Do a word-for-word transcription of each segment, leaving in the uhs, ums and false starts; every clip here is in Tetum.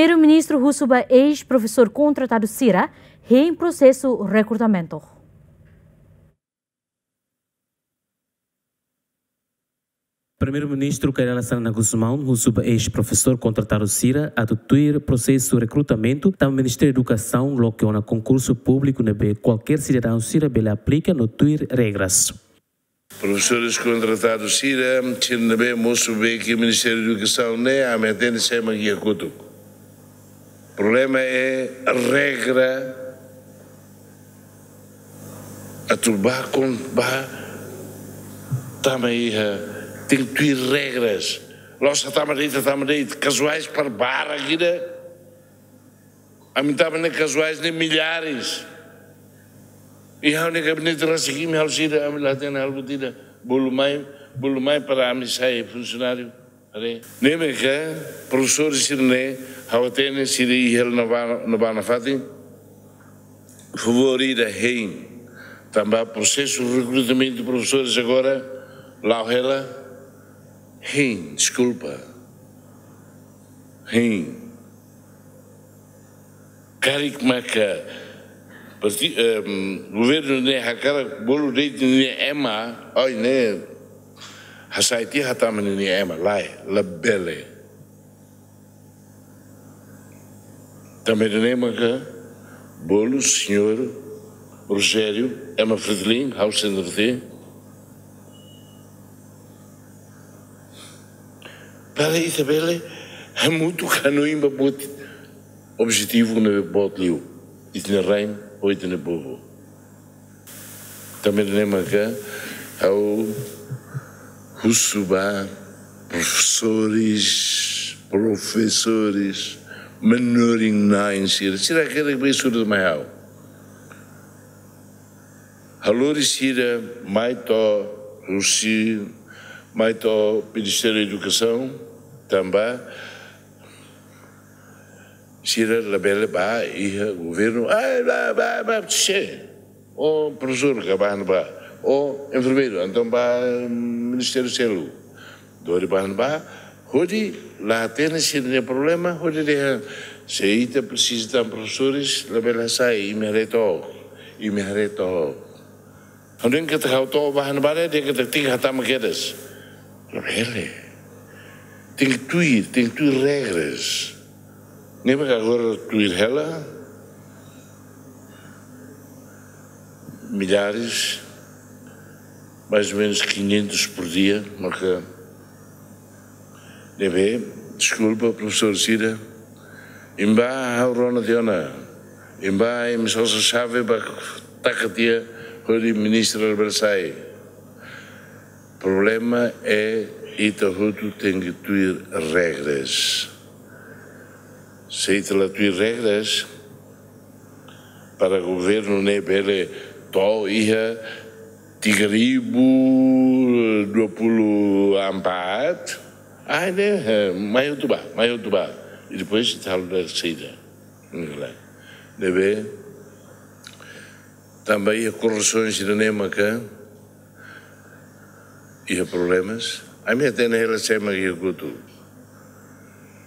Primeiru-Ministru husu ba eis-profesór kontratadu sira hein prosesu rekrutamentu. Primeiru-Ministru Kay Rala Xanana Gusmão husu ba eis-profesór kontratadu sira atu tuir prosesu rekrutamentu, tanba Ministériu Edukasaun loke ona konkursu públiku ne'ebé kualkér sidadaun sira bele aplika no tuir regras. Profesores kontratadu sira, sira ne'ebé mosu ba Ministériu Edukasaun ne'e, ami hatene sira mak iha kotuk. Problema é regra atu ba kon ba tama iha, tenke tuir regras. La'ós hatama de'it, hatama de'it, kazuais para barak ida. Ami tama ne'e kazuais ne'e milhares. I ha'u-nia gabinete rasik imi halo sira, ami la hatene halo buat ida. Bolu mai, bolu mai para ami sai funsionáriu. Haree. Ne'e mak profesór sira-ne'e, ha'u hatene sira iha ne'ebá, ne'ebá nafatin. Favór ida hein. Tanba prosesu rekrutamentu profesores agora la'o hela. Hein, deskulpa. Hein. Karik maka parti-, em, governu ne'e hakarak bolu de'it ninia ema, ai ne'e hasai tiha hatama ninia ema, lae, labele. Tanba ida-ne'e maka bolu señór Rogério, ema Fretilin, ha'u sente. Para ita bele hamutuk hanoin ba buat objetivu ne'ebé boot liu. Ita-nia rain, ou ita-nia povu. Tanba ne'e maka ha'u husu ba profesores, profesores, manorin-na'in sira, sira hakerek bá estuda mai ha'u. Halo sira mai to'o husi, mai to'o Ministériu Edukasaun, tanba sira labele ba iha governu, ai, ba, ba, ba, che. O profesór ka ba, ba. O enfermeiru, entaun ba, mm, ministériu seluk. Dori ba, ba. Hodi la hatene sira-nia problema, hodi dehan, se ita presiza tan profesores, labele hasai, imi haree to'ok, imi haree to'ok. Hanoin katak ha'u to'o ba ne'ebá dehan katak tenke hatama kedas. Labele. Tenke tuir, tenke tuir regras. Ne'e mak agora tuir hela. Milhares, mais ou menos quinhentos por dia, maka ne'ebé, deskulpa, profesór sira, imi bá ha'u rona tiha ona, imi bá imi sosa xave bá taka tiha hodi ministra bele sai. Problema é ita hotu tenke tuir regras. Se ita la tuir regras, para governu ne'e bele to'o iha tiga ribu dua puluh empat, ai ne'e, eh, mai hotu bá, mai hotu bá. I depois ita halo da saida. Ne'ebé, tanba iha korrupsaun sira-ne'e maka iha problemas. Ami hatene hela sé mak iha kotuk.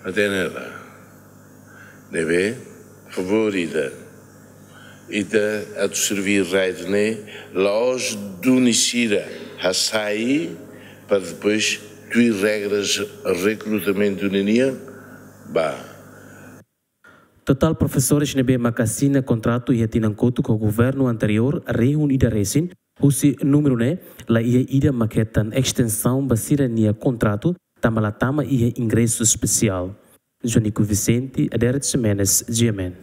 Hatene hela. Ne'ebé, favór ida. Ita atu serví raid ne'e, la'ós duni sira hasai, para depois tuir regras rekrutamentu ninian, ba. Totál profesores ne'ebé maka asina kontratu iha tinan kotuk ho governu anteriór rihun ida resin, husi númeru ne'e, la iha ida mak hetan estensaun ba sira-nia kontratu, tanba la tama iha ingresu espesiál. Jonico Vicente, Adérito Ximenes, G M N.